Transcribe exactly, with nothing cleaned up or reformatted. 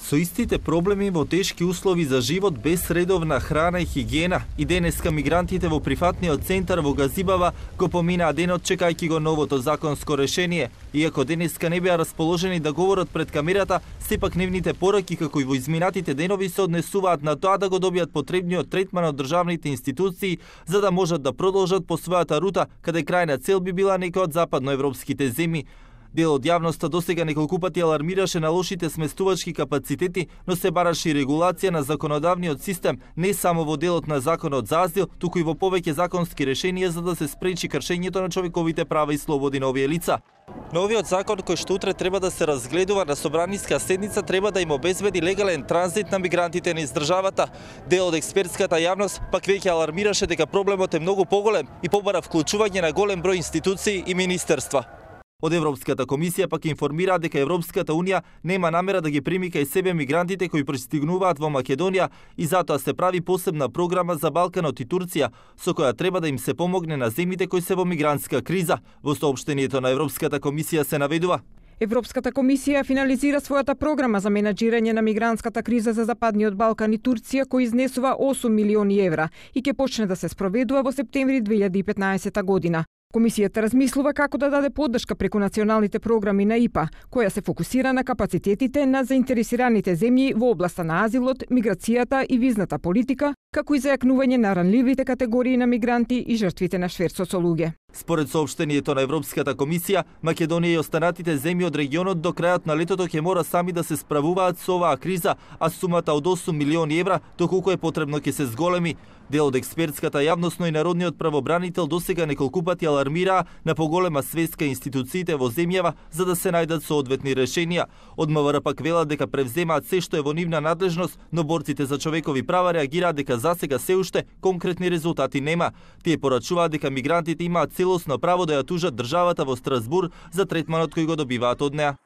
Со истите проблеми во тешки услови за живот без редовна храна и хигиена, и денеска мигрантите во прифатниот центар во Газибава го поминаа денот чекајќи го новото законско решение. Иако денеска не беа расположени да говорат пред камерата, сепак нивните пораки како и во изминатите денови се однесуваат на тоа да го добијат потребниот третман од државните институции за да можат да продолжат по својата рута, каде крајна цел би била некоја од западноевропските земји. Дел од јавноста досега неколку пати алармираше на лошите сместувачки капацитети, но се бараше и регулација на законодавниот систем не само во делот на законот за азил, туку и во повеќе законски решенија за да се спречи кршењето на човековите права и слободи на овие лица. Новиот закон кој што утре треба да се разгледува на собраниска седница треба да им обезбеди легален транзит на мигрантите низ државата. Дел од експертската јавност пак веќе алармираше дека проблемот е многу поголем и побара вклучување на голем број институции и министерства. Од Европската комисија пак информира дека Европската унија нема намера да ги прими кај себе мигрантите кои пристигнуваат во Македонија и затоа се прави посебна програма за Балканот и Турција, со која треба да им се помогне на земјите кои се во мигрантска криза. Во соопштението на Европската комисија се наведува: Европската комисија финализира својата програма за менаџирање на мигрантската криза за Западниот Балкан и Турција, кој изнесува осум милиони евра и ќе почне да се спроведува во септември две илјади и петнаесета година. Комисијата размислува како да даде поддршка преку националните програми на И П А, која се фокусира на капацитетите на заинтересираните земји во областа на азилот, миграцијата и визната политика, како и зајакнување на ранливите категории на мигранти и жртвите на шверцот со луѓе. Според соопштението на Европската комисија, Македонија и останатите земји од регионот до крајот на летото ќе мора сами да се справуваат со оваа криза, а сумата од осум милиони евра, доколку е потребно ќе се зголеми. Дел од експертската јавност, но и народниот правобранител досега неколку пати алармираа на поголема свеска институциите во земјава за да се најдат соодветни решенија. Од МВР пак велат дека превземаат се што е во нивна надлежност, но борците за човекови права реагираат дека засега се уште конкретни резултати нема. Тие порачуваат дека мигрантите имаат целосно право да ја тужат државата во Страсбур за третманот кој го добиваат од неа.